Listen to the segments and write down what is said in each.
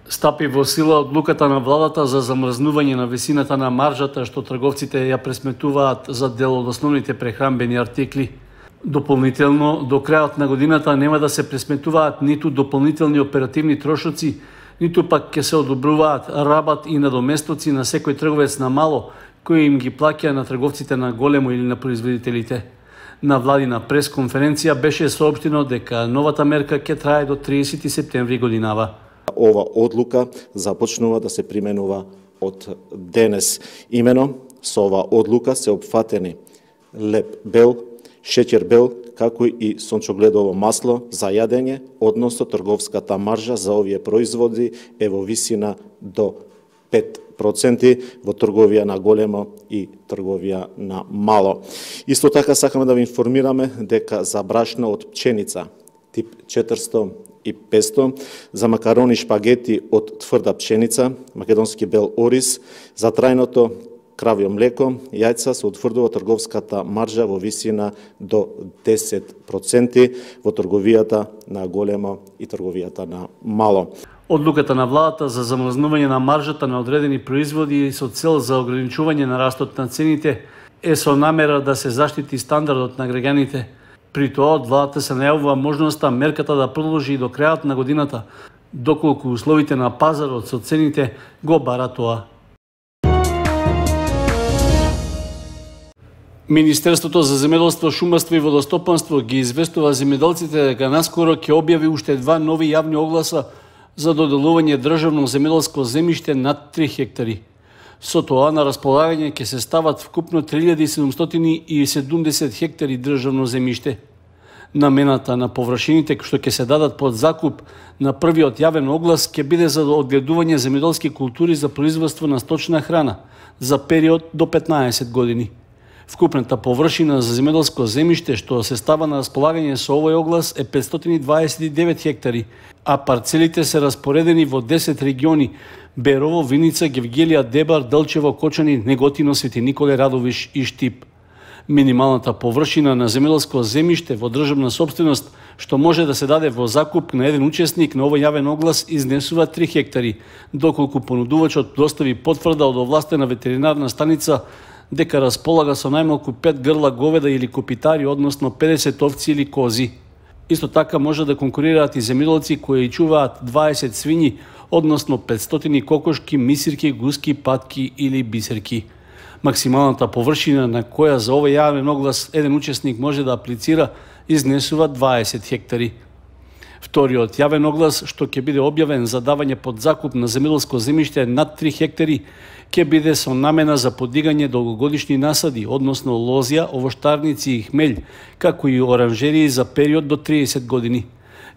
Стапи во сила одлуката на владата за замрзнување на висината на маржата што трговците ја пресметуваат за дел од основните прехранбени артикли. Дополнително, до крајот на годината нема да се пресметуваат ниту дополнителни оперативни трошоци, ниту пак ќе се одобруваат рабат и надоместоци на секој трговец на мало, кои им ги плаќа на трговците на големо или на производителите. На владина пресконференција беше соопштено дека новата мерка ќе трае до 30 септември годинава. Ова одлука започнува да се применува од денес. Имено, со ова одлука се опфатени леб бел, шеќер бел, како и сончогледово масло за јадење, односно трговската маржа за овие производи е во висина до 5% во трговија на големо и трговија на мало. Исто така сакаме да ви информираме дека за брашно од пченица тип 400 и 500, за макарони шпагети од тврда пшеница, македонски бел ориз, за трајното кравјо млеко, јајца се утврдува трговската маржа во висина до 10% во трговијата на големо и трговијата на мало. Одлуката на владата за замрзнување на маржата на одредени производи со цел за ограничување на растот на цените е со намера да се заштити стандардот на граѓаните. При тоа од владата се најавува можноста мерката да продолжи и до крајот на годината, доколку условите на пазарот со цените го бара тоа. Министерството за земјоделство, шумарство и водостопанство ги известува земјоделците дека наскоро ќе објави уште 2 нови јавни огласа за доделување државно земјоделско земјиште над 3 хектари. Со тоа на располагање ќе се стават вкупно 3770 хектари државно земјиште. Намената на површините што ќе се дадат под закуп на првиот јавен оглас ќе биде за одгледување земјоделски култури за производство на сточна храна за период до 15 години. Вкупната површина за земјоделско земјиште што се става на располагање со овој оглас е 529 хектари, а парцелите се распоредени во 10 региони: Берово, Виница, Гевгелија, Дебар, Делчево, Кочани, Неготино, Свети Николе, Радовиш и Штип. Минималната површина на земјоделско земјиште во државна сопственост што може да се даде во закуп на еден учесник на овој јавен оглас изнесува 3 хектари, доколку понудувачот достави потврда од овластена ветеринарна станица дека располага со најмалку 5 грла говеда или копитари, односно 50 овци или кози. Исто така може да конкурираат и земјоделци кои чуваат 20 свињи, односно 500 кокошки, мисирки, гуски, патки или бисерки. Максималната површина на која за овој јавен оглас еден учесник може да аплицира изнесува 20 хектари. Вториот јавен оглас што ќе биде објавен за давање под закуп на земјоделско земјиште над 3 хектари ќе биде со намена за подигање долгогодишни насади, односно лозја, овоштарници и хмелј, како и оранжерии за период до 30 години.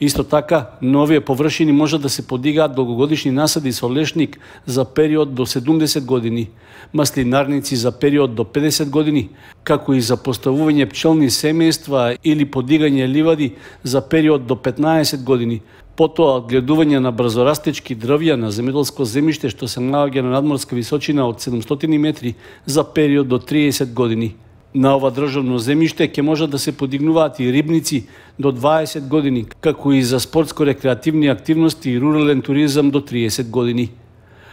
Исто така, новие површини може да се подигаат долгогодишни насади со лешник за период до 70 години, маслинарници за период до 50 години, како и за поставување пчелни семејства или подигање ливади за период до 15 години. Потоа одгледување на брзорастечки дрвја на земјоделско земјиште што се наоѓа на надморска височина од 700 метри за период до 30 години. На ова државно земјиште ќе може да се подигнуваат и рибници до 20 години, како и за спортско-рекреативни активности и рурален туризам до 30 години.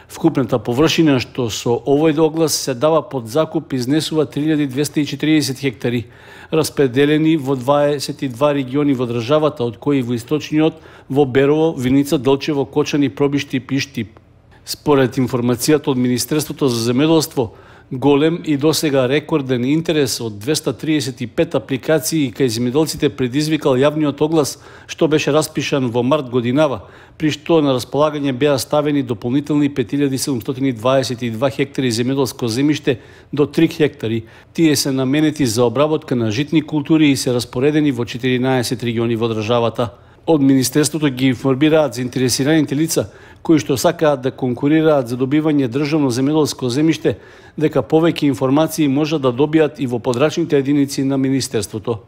Вкупната површина што со овој оглас се дава под закуп изнесува 3240 хектари, распределени во 22 региони во државата, од кои во источниот во Берово, Виница, Делчево, Кочани, Пробиштип и Штип. Според информацијата од Министерството за земјоделство, голем и досега рекорден интерес од 235 апликации кај земјоделците предизвикал јавниот оглас што беше распишан во март годинава, при што на располагање беа ставени дополнителни 5722 хектари земјоделско земјиште до 3 хектари. Тие се наменети за обработка на житни култури и се распоредени во 14 региони во државата. Од Министерството ги информираат заинтересираните лица кои што сакаат да конкурираат за добивање државно земјоделско земјиште, дека повеќе информации можат да добијат и во подрачните единици на Министерството.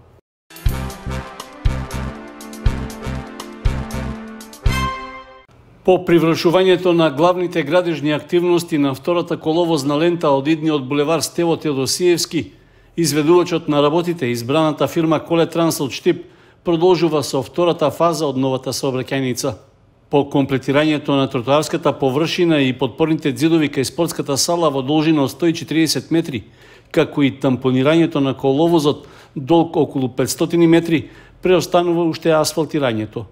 По привршувањето на главните градежни активности на втората коловозна лента од идниот булевар Стево Теодосиевски, изведувачот на работите, избраната фирма Колетранс од Штип, продолжува со втората фаза од новата сообраќајница. По комплетирањето на тротоарската површина и подпорните ѕидови кај спортската сала во должина од 140 метри, како и тампонирањето на коловозот долг околу 500 метри, преостанува уште асфалтирањето.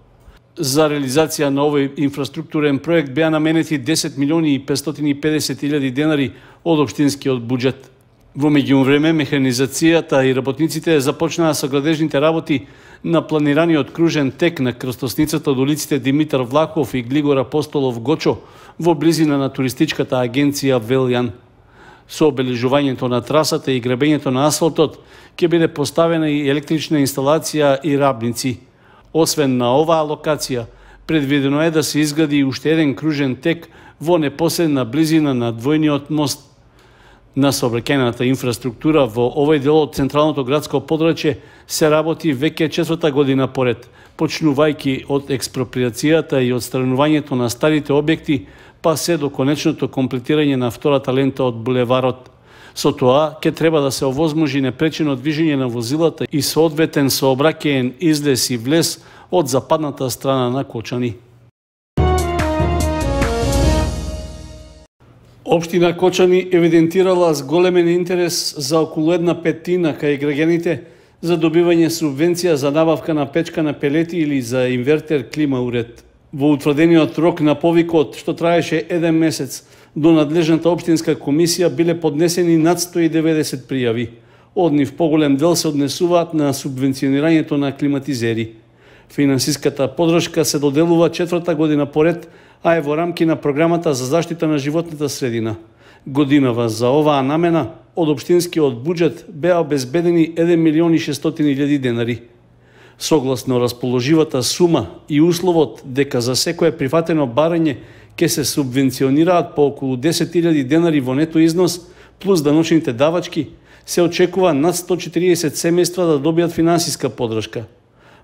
За реализација на овој инфраструктурен проект беа наменети 10 милиони и 550 илјади денари од општинскиот буџет. Во меѓувреме, механизацијата и работниците започнаа со градежните работи на планираниот кружен тек на крстосницата од улиците Димитар Влахов и Глигор Апостолов Гочо во близина на туристичката агенција Велјан. Со обележувањето на трасата и гребењето на асфалтот ќе биде поставена и електрична инсталација и рабници. Освен на оваа локација, предвидено е да се изгради уште еден кружен тек во непосредна близина на двојниот мост. На сообраќајната инфраструктура во овој дел од централното градско подрачје се работи веќе 4-та година поред, почнувајќи од експроприацијата и отстранувањето на старите објекти, па се до конечното комплетирање на втората лента од булеварот. Со тоа ќе треба да се овозможи непречено движење на возилата и соодветен сообраќаен излез и влез од западната страна на Кочани. Општина Кочани евидентирала зголемен интерес за околу 1/5 кај граѓаните за добивање субвенција за набавка на печка на пелети или за инвертер клима уред. Во утврдениот рок на повикот, што траеше 1 месец, до надлежната општинска комисија биле поднесени над 190 пријави. Од нив поголем дел се однесуваат на субвенционирањето на климатизери. Финансиската поддршка се доделува 4-та година поред, а е во рамки на програмата за заштита на животната средина. Годинава за оваа намена од општинскиот буџет беа обезбедени 1 милион и 600 илјади денари. Согласно расположивата сума и условот дека за секое прифатено барање ќе се субвенционираат по околу 10.000 денари во нето износ, плюс даночните давачки, се очекува над 140 семејства да добијат финансиска поддршка.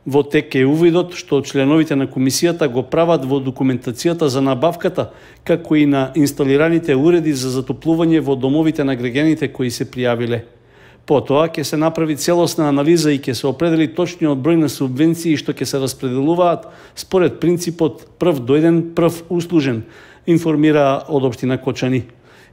Во тек е увидот што членовите на комисијата го прават во документацијата за набавката, како и на инсталираните уреди за затоплување во домовите на граѓаните кои се пријавиле. Потоа ќе се направи целосна анализа и ќе се определи точниот број на субвенции што ќе се распределуваат според принципот прв дојден, прв услужен, информира од општина Кочани.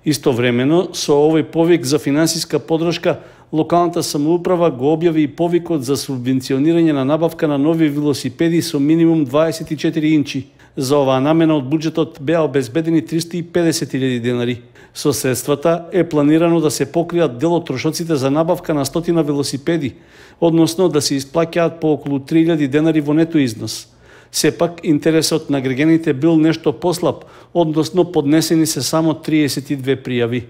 Истовремено, со овој повик за финансиска поддршка, локалната самоуправа го објави и повикот за субвенционирање на набавка на нови велосипеди со минимум 24 инчи. За оваа намена од буџетот беа обезбедени 350.000 денари. Со средствата е планирано да се покријат дел од трошоците за набавка на 100 велосипеди, односно да се исплаќаат по околу 3.000 денари во нето износ. Сепак, интересот на граѓаните бил нешто послаб, односно поднесени се само 32 пријави.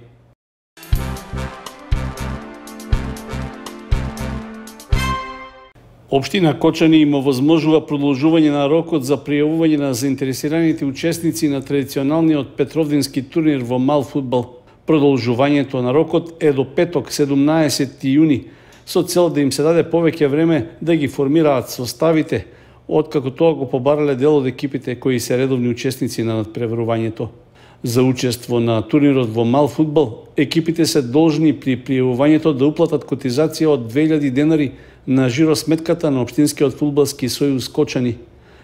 Општина Кочани им овозможува продолжување на рокот за пријавување на заинтересираните учесници на традиционалниот петровдински турнир во мал фудбал. Продолжувањето на рокот е до петок, 17 јуни, со цел да им се даде повеќе време да ги формираат составите, откако тоа го побарале дел од екипите кои се редовни учесници на надпреварувањето. За учество на турнирот во мал фудбал, екипите се должни при пријавувањето да уплатат котизација од 2000 денари на жиросметката на Општинскиот фудбалски сојуз Кочани.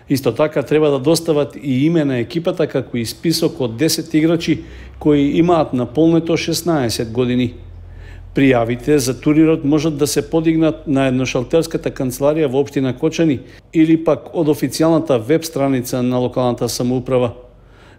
Исто така треба да достават и име на екипата како и список од 10 играчи кои имаат наполнето 16 години. Пријавите за турнирот можат да се подигнат на едношалтерската канцеларија во општина Кочани или пак од официјалната веб страница на локалната самоуправа.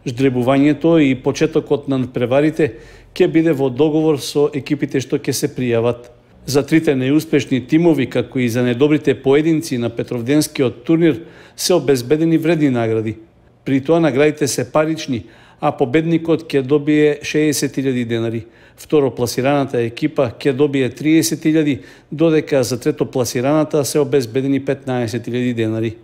Ждребувањето и почетокот на надпреварите ќе биде во договор со екипите што ќе се пријават. За трите неуспешни тимови, како и за недобрите поединци на Петровденскиот турнир, се обезбедени вредни награди. При тоа наградите се парични, а победникот ќе добие 60.000 денари. Второпласираната екипа ќе добие 30.000, додека за третопласираната се обезбедени 15.000 денари.